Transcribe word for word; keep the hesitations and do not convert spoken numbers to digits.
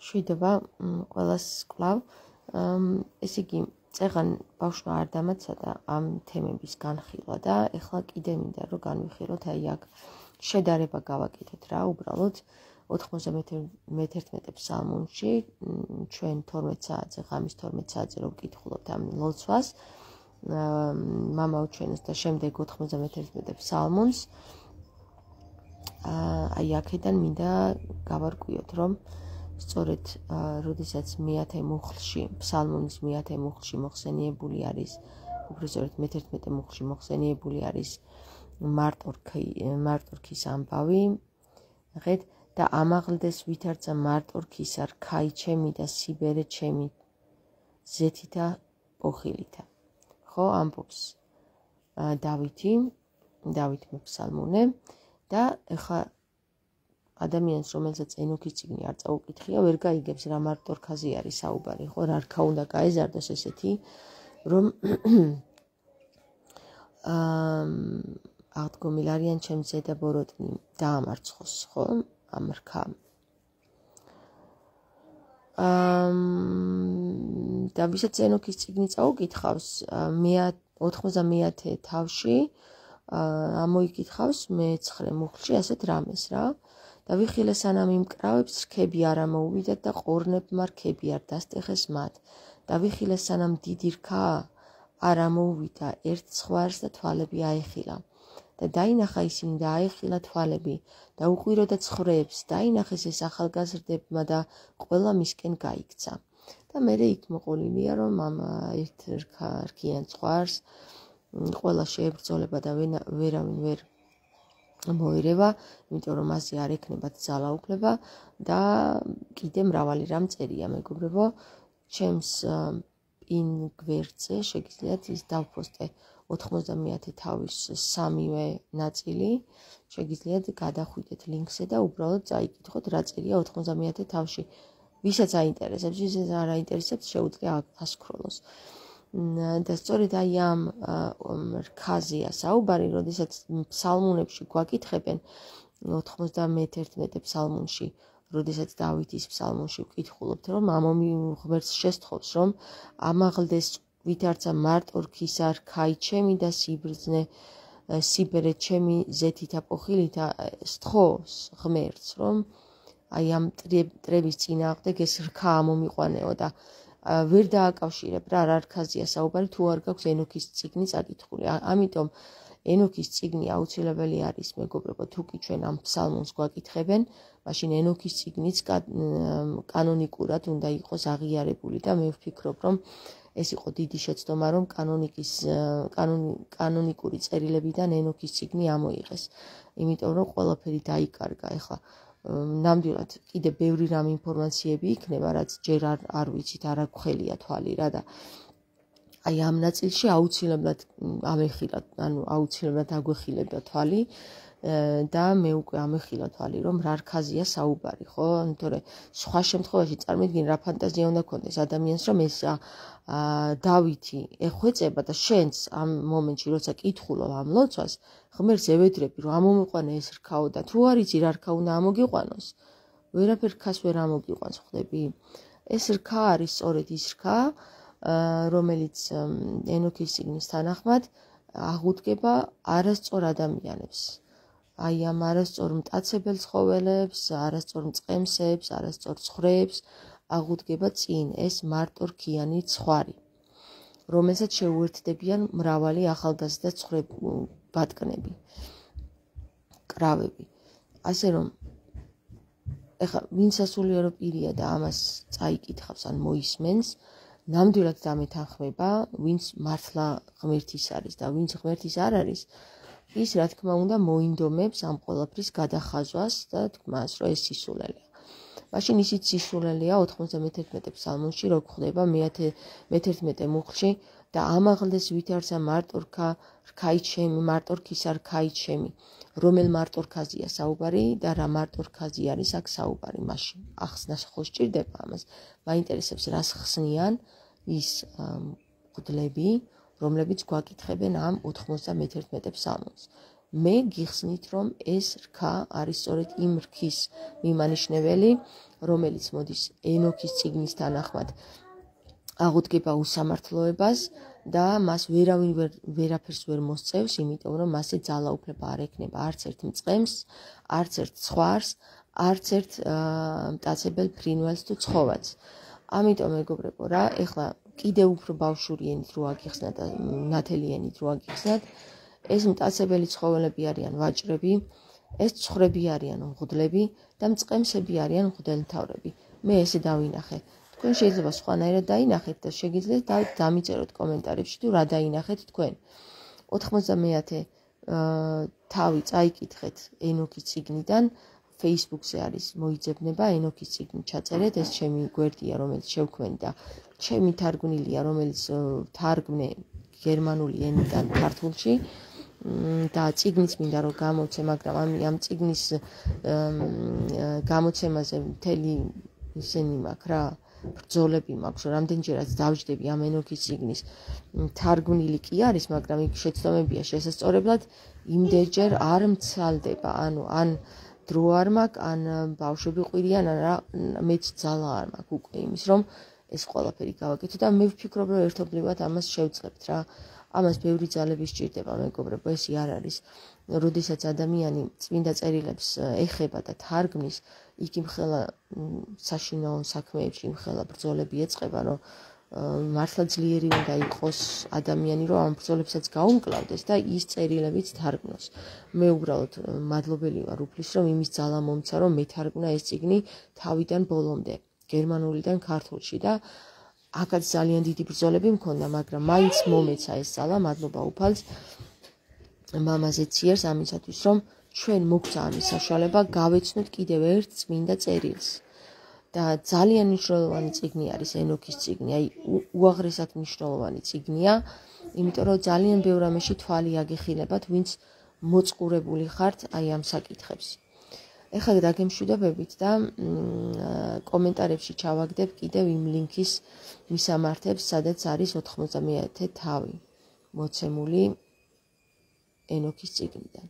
შვიდობა ყველას კვლავ. ესე იგი, წეღან ბავშვმა არ დამაცადა ამ თემების განხილვა და ეხლა კიდე მინდა რომ განვიხილოთ აი აქ შედარება გავაკეთოთ რა, უბრალოდ ოთხმოცდამეერთმეტე ფსალმუნში ჩვენ თორმეტ საათზე, ღამის თორმეტ საათზე რომ ვკითხულობთ ამ ლოცვას, მამაუჩვენოს და შემდეგ ოთხმოცდამეერთმეტე ფსალმუნს, აი აქედან მინდა გავარკვიოთ, რომ სწორედ როდესაც მეათე მუხლში, ფსალმუნის მეათე მუხლში მოხსენიებული არის, უბრალოდ მეთერთმეტე მუხლში მოხსენიებული არის მარტორქის ამბავი, ნახეთ, და ამაღლდეს ვითარცა მარტორქისა რქაი ჩემი და სიბერე ჩემი ზეთითა პოხილითა. ხო, ამბობს დავითი, დავით მეფსალმუნე და ეხლა ადამიანს, რომელსაც ენოქის წიგნი არ წაუკითხია, ვერ გაიგებს რა მარტორქაზე არის საუბარი, ხო, რა რქა უნდა გაეზარდოს ესეთი, რომ აღდგომილ არიან ჩემს ზედა ბოროტნი დაამარცხოს, ხო, ამ რქამ. და ვისაც ენოქის წიგნი წაუკითხავს, ოთხმოცდამეათე თავში ამოიკითხავს მეცხრე მუხლში ასეთ რამეს რა. და ვიხილე სანამ იმკრავებს რქები არ ამოუვიდათ და ყორნებმა რქები არ დასტეხეს მათ. და ვიხილე სანამ დიდი რქა არ ამოუვიდა ერთ ცხვარს და თვალები აეხილა. და დაინახა ისინი და აეხილა თვალები და უყვირო და ცხვრებს, დაინახეს ეს ახალგაზრდებმა და ყველა მისკენ გაიქცა. და მერე იქ მოყოლილია, რომ ამ ერთ რქიან ცხვარს ყველა შეებრძოლება და ვერავინ ვერ მოერევა, იმიტომ რომ მასზე არ ექნებათ ძალაუფლება და კიდე მრავალი რამ წერია, მეგობრებო, ჩემს პინ გვერდზე შეგიძლიათ ის დავპოსტე ოთხმოცდამეათე თავის სამივე ნაწილი, შეგიძლიათ გადახვიდეთ ლინკზე და უბრალოდ წაიკითხოთ რა წერია ოთხმოცდამეათე თავში. ვისაც აინტერესებს, ვისაც არ აინტერესებს, შეუძლია ასკროლოს. და სწორედ აი ამ რქაზეა საუბარი, როდესაც ფსალმუნებში გვაკითხებენ ოთხმოცდამეერთმეტე ფსალმუნში, როდესაც დავითის ფსალმუნში ვკითხულობთ, რომ ამომი ღმერთს შესთხოვს, რომ ამაღლდეს ვითარცა მარტორქისა რქაი ჩემი და სიბრძნე სიბერე ჩემი ზეთითა პოხილითა, სთხოვს ღმერთს, რომ აი ამ მტრების წინააღმდეგ ეს რქა ამომიყვანეო და ვერ დააკავშირებ რა რა რქაზეა საუბარი, თუ არ გაქვს ენოქის წიგნი წაკითხული. ამიტომ ენოქის წიგნი აუცილებელი არის, მეგობრებო, თუ კი ჩვენ ამ ფსალმუნს გვაკითხებენ, მაშინ ენოქის წიგნიც კანონიკურად უნდა იყოს აღიარებული და მე ვფიქრობ, რომ ეს იყო დიდი შეცდომა, რომ კანონიკის კანონიკური წერილებიდან ენოქის წიგნი ამოიღეს, იმიტომ რომ ყველაფერი დაიკარგა. ეხლა ნამდვილად კიდე ბევრი რამ ინფორმაციები იქნება, რაც ჯერ არ არ ვიცით, არ აქვს თვალი რა და აი ამ ნაწილში აუცილებლად ამეხილა, ანუ აუცილებლად აგვეხილებდა თვალი და მე უკვე ამეხილა თვალი, რომ რა რქაზეა საუბარი, ხო? თორე სხვა შემთხვევაში წარმოვიდგინე რა ფანტაზია უნდა ქონდეს ადამიანს, რომ ეს დავითი ეხვეწება და შენც ამ მომენტში, როცა კითხულობ ამ ლოცვას, ღმერთს ევედრები, რომ ამომიყვანე ეს რქაო და თუ არ იცი რა რქა უნდა ამოგიყვანოს, ვერაფერ რქას ვერ ამოგიყვანს, ხვდები? ეს რქა არის სწორედ ის რქა, რომელიც ენოქის წიგნის თანახმად აღუდგება არასწორ ადამიანებს. აი ამ არასწორ მტაცებელ ცხოველებს, არასწორ მწყემსებს, არასწორ ცხვრებს აღუდგება წინ ეს მარტორქიანი ცხვარი, რომელსაც შეუერთდებიან მრავალი ახალგაზრდა ცხრებატკნები, კრავები. ასე რომ ეხლა ვინ სასულიერო პირია და ამას წაიკითხავს ან მოისმენს, ნამდვილად დამეთანხმება, ვინც მართლა ღმერთის არის და ვინც ღმერთის არ არის, ის რა თქმა უნდა მოინდომებს ამ ყველაფრის გადახაზვას და თქმას, რომ ეს სისულელეა. მაშინ ისიც სისულელეა ოთხმოცდამეერთმეტე ფსალმუნში, რო გვხვდება მეთერთმეტე მუხლში და ამაღლდეს ვითარცა მარტორქა რქაი ჩემი, მარტორქისა რქაი ჩემი. რომელ მარტორქაზეა საუბარი და რა მარტორქაზი არის აქ საუბარი, მაშინ ახსნას ხო სჭირდება ამას. მაინტერესებს რას ხსნიან ის მღვდლები, რომლებიც გვაკითხებენ ამ ოთხმოცდამეერთმეტე ფსალმუნს. მე გიხსნით, რომ ეს რქა არის სწორედ იმ რქის მიმანიშნებელი, რომელიც მოდის ენოქის წიგნის თანახმად აღუდგება უსამართლოებას და მას ვერავინ ვერ, ვერაფერს ვერ მოსწევს, იმიტომ რომ მასზე ძალაუფლება არ ექნება არც ერთ მწყემს, არც ერთ ცხვარს, არც ერთ მტაცებელ ფრინველს თუ ცხოველს. ამიტომ მეგობრებო რა, ეხლა კიდევ უფრო ბავშვური ენით რო აგიხსნათ და ნათელი ენით რო აგიხსნათ, ეს მტაცებელი ცხოველები არიან ვაჭრები, ეს ცხრები არიან მღვდლები და მწყემსები არიან მღვდელმთავრები. მე ესე დავინახე. თქვენ შეიძლება სხვანაირად დაინახეთ და შეგიძლიათ დამიწეროთ კომენტარებში თუ რა დაინახეთ თქვენ. ოთხმოცდამეათე თავი წაიკითხეთ ენოქის წიგნიდან, Facebook-ზე არის მოიძებნება ენოქის წიგნი ჩაწერეთ, ეს ჩემი გვერდია, რომელიც შევქმნი და ჩემი თარგმნილია, რომელიც თარგმნე გერმანული ენიდან ქართულში და წიგნიც მინდა რომ გამოცე, მაგრამ ამ ამ წიგნის გამოცემაზე მთელი ისენი მაქვს რა, ბრძოლები მაქვს, რომ რამდენჯერაც დავჯდები ამ ენოქის წიგნის თარგმნილი კი არის, მაგრამ იქ შეცდომებია შესასწორებლად იმდენჯერ არ მცალდება, ანუ ან დრო არ მაქვს, ან ბავშვები ყვირიან, ან რა, მეც ძალა არ მაქვს უკვე იმის, რომ ეს ყველაფერი გავაკეთო და მე ვფიქრობ, რომ ერთობლივად ამას შევწყებთ რა. ამას ბევრი ძალები სჭირდება, მეგობრებო, ესე არ არის. როდესაც ადამიანი წმინდა წერილებს ეხება და თარგმნის, იქ იმხელა საშინაო საქმეებში იმხელა ბრძოლები ეწყება, რომ მართლა ძლიერი უნდა იყოს ადამიანი, რომ ამ ბრძოლებსაც გაუმკლავდეს და ის წერილებიც თარგმნოს. მე უბრალოდ მადლობელი ვარ უფლის, რომ იმის ძალა მომცა, რომ მეთარგმნა ეს წიგნი თავიდან ბოლომდე, გერმანულიდან ქართულში და აქაც ძალიან დიდი ბრძოლები მქონდა, მაგრამ მაინც მომეცა ეს ძალა, მადლობა უფალს მამაზე ციერს ამისათვის, რომ ჩვენ მოგცა ამის საშუალება გავეცნოთ კიდევ ერთ წმინდა წერილს. და ძალიან მნიშვნელოვანი წიგნი არის ენოქის წიგნი, აი უაღრესად მნიშვნელოვანი წიგნია, იმიტომ რომ ძალიან ბევრ ამაში თვალი აგეხილებათ, ვინც მოწყურებული ხართ აი ამ საკითხებს. ეხლა დაგემშვიდობებით და კომენტარებში ჩავაგდებ კიდევ იმ ლინკის მისამართებს, სადაც არის ოთხმოცდამეათე თავი მოცემული ენოქის წიგნიდან.